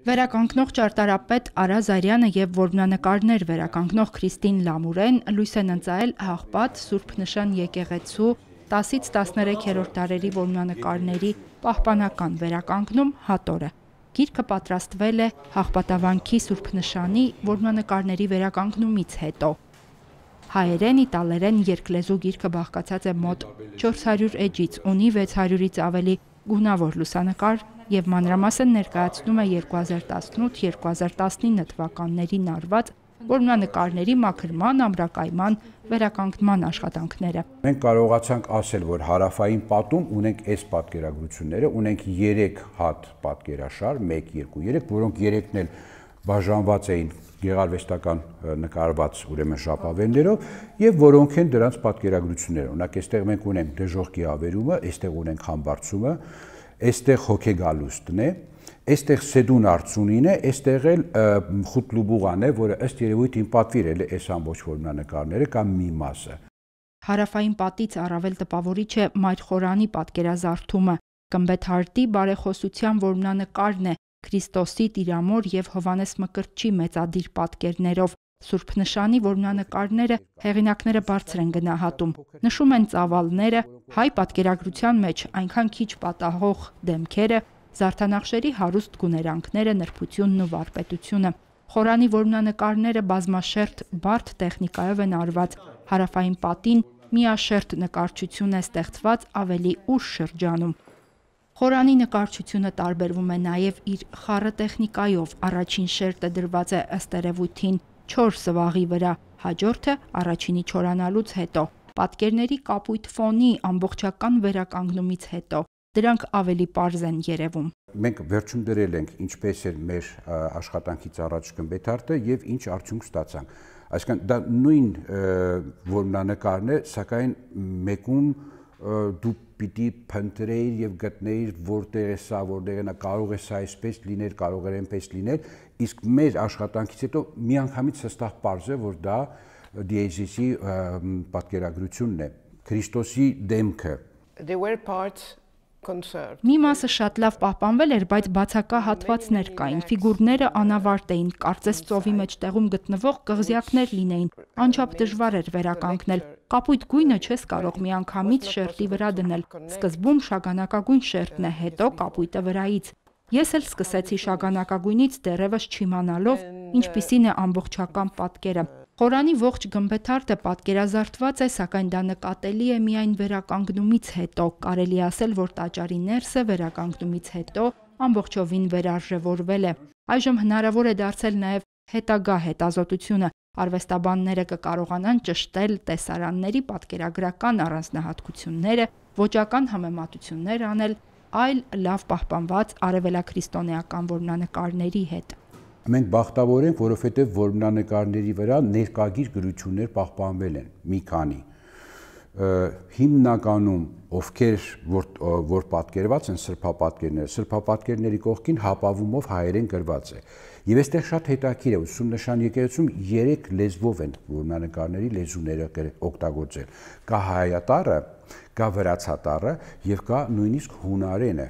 Վերականգնող ճարտարապետ Արա Զարյանը և որմնանկարներ վերականգնող Քրիստին Լամուրեն լույս են ընծայել Աղբատ Սուրբ Նշան եկեղեցու 10-ից 13-րդ դարերի որմնանկարների պահպանական վերականգնում հատորը։ Գիրքը պատրաստվել է Աղբատավանքի Սուրբ Նշանի որմնանկարների վերականգնումից հետո։ Հայերեն, իտալերեն երկլեզու գիրքը բաղկացած է մոտ 400 էջից, ունի 600-ից ավելի գունավոր լուսանկար և մանրամասն ներկայացնում է 2018-2019 թվականներին արված որմնանկարների մաքրման, ամրակայման, վերականգնման աշխատանքները։ Մենք կարողացանք ասել, որ հարավային պատում ունենք այս պատկերագրությունները, ունենք 3 հատ պատկերաշար, 1, 2, 3, որոնք 3-ն էլ բաժանված էին գեղարվեստական նկարված ուրեմն ժապավեններով եւ որոնք են դրանց պատկերագրությունները։ Օրինակ, այստեղ մենք ունենք դժողքի ավերումը, այստեղ ունենք համբարձումը, այստեղ հոգեգալուստն է, այստեղ Սեդուն արծունին է, այստեղ էլ խուտլուբուղան է, որը ըստ երևույթին պատվիրել է այս ամբողջ որմնանկարները կամ մի մասը։ Հարավային պատից առավել տպավորիչ է Մայր Խորանի պատկերազարդումը, Կմբեթարտի բարեխոսության որմնանկարն է Քրիստոսի, Տիրամոր և Հովհաննես Մկրտչի մեծադիր պատկերներով։ Սուրբ Նշանի որմնանկարները հեղինակները բարձր են գնահատում, նշում են ծավալները, հայ պատկերագրության մեջ այնքան քիչ պատահող դեմքերը, զարդանախշերի հարուստ գուներանգները, նրբությունն ու վարպետությունը։ Խորանի որմնանկարները բազմաշերտ բարդ տեխնիկայով են արված, հարավային պատին միաշերտ նկարչություն է ստեղծված ավելի ուշ շրջանում։ Խորանի նկարչությունը տարբերվում է նաև իր խառը տեխնիկայով, առաջին շերտը դրված է ըստ երևույթին 4 սվաղի վրա, հաջորդը առաջինի չորանալուց հետո, պատկերների կապույտ ֆոնի ամբողջական վերականգնումից հետո, դրանք ավելի պարզ են երևում։ Մենք վերջում դրել ենք ինչպես էր մեր աշխատանքից առաջ Կմբեթարտը եւ ինչ արդյունք ստացանք։ Այսինքն դա նույն որմնանկարն է, սակայն մեկում դու պիտի փնտրեիր եւ գտնեիր որտեղ է սա, որտեղ է նա, կարող է սա այսպես լինել, կարող է այնպես լինել, իսկ մեր աշխատանքից հետո միանգամից հստակ պարզ է, որ դա դիեզիսի պատկերագրությունն է, Քրիստոսի դեմքը։ Մի մասը շատ լավ պահպանվել էր, բայց բացակա հատվածներ կային, ֆիգուրները անավարտ էին, կարծես ծովի մեջտեղում գտնվող կղզյակներ լինեին, անչափ դժվար էր վերականգնել, կապույտ գույնը չես կարող միանգամից շերտի վրա դնել, սկզբում շագանակագույն շերտն է, հետո կապույտը վրայից։ Ես էլ սկսեցի շագանակագույնից դեռևս չիմանալով, ինչպիսին է ամբողջական պատկերը։ Խորանի ողջ Գմբեթարտը պատկերազարդված է, սակայն դա նկատելի է միայն վերականգնումից հետո, կարելի ասել, որ տաճարի ներսը վերականգնումից հետո ամբողջովին վերարժևորվել է։ Այժմ հնարավոր է դարձել նաև հետագա հետազոտությունը, արվեստաբանները կկարողանան ճշտել տեսարանների պատկերագրական առանձնահատկությունները, ոճական համեմատություններ անել այլ լավ պահպանված արևելաքրիստոնեական որմնանկարների հետ։ Մենք բախտավոր ենք, որովհետև որմնանկարների վրա ներկագիր գրություններ պահպանվել են, մի քանի։ Հիմնականում ովքեր որ պատկերված են սրբապատկերների կողքին հապավումով հայերեն գրված է։ Եվ այստեղ շատ հետաքրքիր է, Սուրբ Նշան եկեղեցում 3 լեզվով են որմնանկարների լեզուները օգտագործել։ Կա հայատառը, կա վրացատառը եւ կա նույնիսկ հունարենը։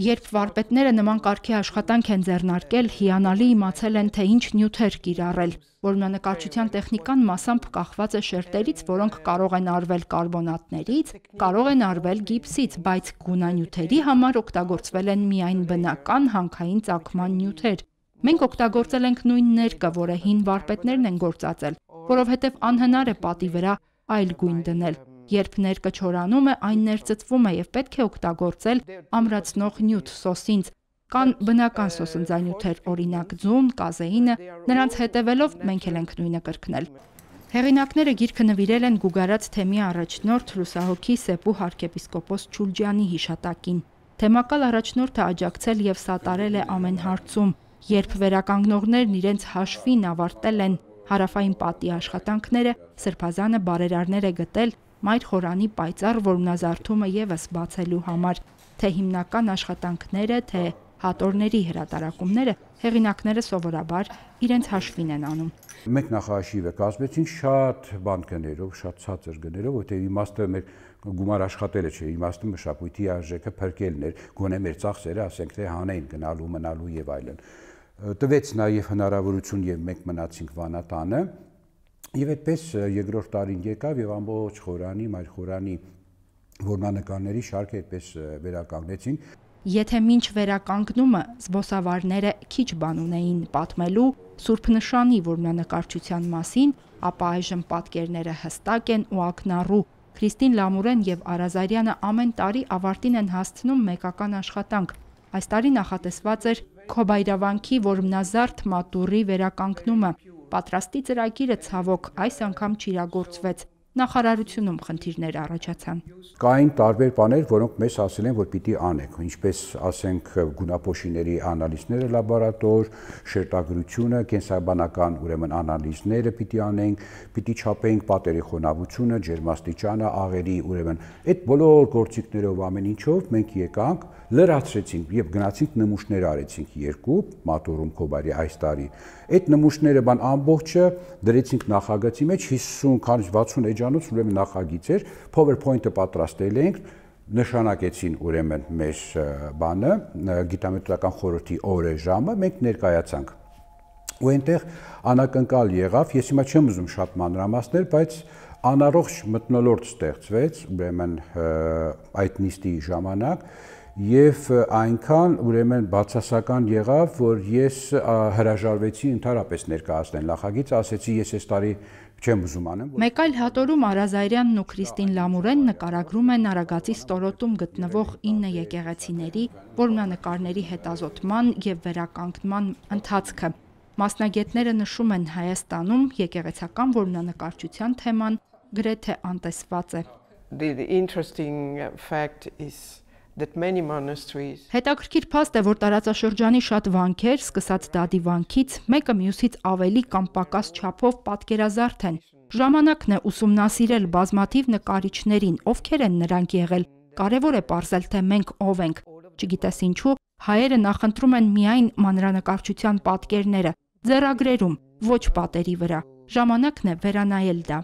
Երբ վարպետները նման կարգի աշխատանք են ձեռնարկել, հիանալի իմացել են, թե ինչ նյութեր կիրառել։ Որմնանկարչության տեխնիկան մասամբ կախված է շերտերից, որոնք կարող են արվել կարբոնատներից, կարող են արվել գիպսից, բայց գունանյութերի համար օգտագործվել են միայն բնական հանքային ծագման նյութեր։ Մենք օգտագործել ենք նույն ներկը, որը հին վարպետներն են գործածել, որովհետև անհնար է պատի վրա այլ գույն դնել։ Երբ ներկը չորանում է, այն ներծծվում է եւ պետք է օգտագործել ամրացնող նյութ սոսինձ։ Կան բնական սոսնձանյութեր, օրինակ ձուն, կազեինը, նրանց հետևելով մենք էլ ենք նույնը կրկնել։ Հեղինակները գիրքը նվիրել են Գուգարաց թեմի առաջնորդ լուսահոգի Սեպու arczepiskopos Չուլջյանի հիշատակին։ Թեմակալ առաջնորդը աջակցել եւ սատարել է ամեն հարցում, երբ վերականգնողներն իրենց հաշվին ավարտել են հարավային պատի աշխատանքները, Սրբազանը բարերարներ է գտել Մայր Խորանի պայծառ որմնազարդումը եւս բացելու համար, թե հիմնական աշխատանքները, թե հատորների հրատարակումները հեղինակները սովորաբար իրենց հաշվին են անում։ Մենք նախահաշիվը կազմեցինք շատ բան գներով, շատ ցածր գներով, որտեղ իմաստը մեր գումար աշխատելը չէ, իմաստը մշակույթի արժեքը փրկելն էր, գոնե մեր ծախսերը, ասենք թե հանեին գնալու, մնալու եւ այլն։ Տվեց նաեւ հնարավորություն եւ մենք մնացինք Վանատանը եւ այդպես երկրորդ տարին եկավ եւ ամբողջ խորանի, մայր խորանի որմնանկարների շարքը այդպես վերականգնեցին։ Եթե մինչ վերականգնումը զբոսավարները քիչ բան ունեին պատմելու Սուրբ Նշանի որմնանկարչության մասին, ապա այժմ պատկերները հստակ են ու ակնառու։ Քրիստին Լամուրեն եւ Արազարյանը ամեն տարի ավարտին են հասցնում մեկական աշխատանք։ Այս տարի նախատեսված էր Քոբայրավանքի որմնազարդ մատուռի վերականգնումը։ Պատրաստի ծրագիրը ցավոք այս անգամ չիրագործվեց։ Նախարարությունում խնդիրներ առաջացան։ Կային տարբեր բաներ, որոնք մեզ ասել են, որ պիտի անենք, ինչպես ասենք գունապոշիների անալիզները լաբորատոր, շերտագրությունը, կենսաբանական ուրեմն անալիզները պիտի անենք, պիտի չափեինք պատերի խոնավությունը, ջերմաստիճանը, աղերի ուրեմն այդ բոլոր գործիքներով ամեն ինչով մենք եկանք, լրացրեցինք եւ գնացինք նմուշներ արեցինք 2 մատուռում Քոբայրի այս տարի։ Այդ նմուշները բան ամբողջը դրեցինք նախագծի մեջ 50-60 էջանոց ուրեմն նախագիծ էր, PowerPoint-ը պատրաստել ենք, նշանակեցին ուրեմն մեր բանը, գիտամետրական խորհրդի օրը ժամը, մենք ներկայացանք։ Ու այնտեղ անակնկալ եղավ, ես հիմա չեմ ուզում շատ մանրամասներ, բայց անառողջ մթնոլորտ ստեղծվեց, ուրեմն այդ նիստի ժամանակ եւ այնքան ուրեմն բացասական եղավ, որ ես հրաժարվեցի ընդհանրապես ներկայացնել նախագիծը, ասեցի ես այս տարի չեմ ուզում անեմ։ Մեկ այլ հատորում Արազարյանն ու Քրիստին Լամուրեն նկարագրում են Արագածի ստորոտում գտնվող 9 եկեղեցիների որմնանկարների հետազոտման եւ վերականգնման ընթացքը։ Մասնագետները նշում են Հայաստանում եկեղեցական որմնանկարչության թեման գրեթե անտեսված է։ The interesting fact is that many monasteries Հետաքրքիր փաստ է, որ տարածաշրջանի շատ վանքեր, սկսած Դադի վանքից, մեկը մյուսից ավելի կամ պակաս չափով պատկերազարդ են։ Ժամանակն է ուսումնասիրել բազմաթիվ նկարիչներին, ովքեր են նրանք եղել։ Կարևոր է պարզել, թե մենք ով ենք։ Չգիտես ինչու, հայերը նախընտրում են միայն մանրանկարչության պատկերները, ձեռագրերում, ոչ պատերի վրա։ Ժամանակն է վերանայել դա։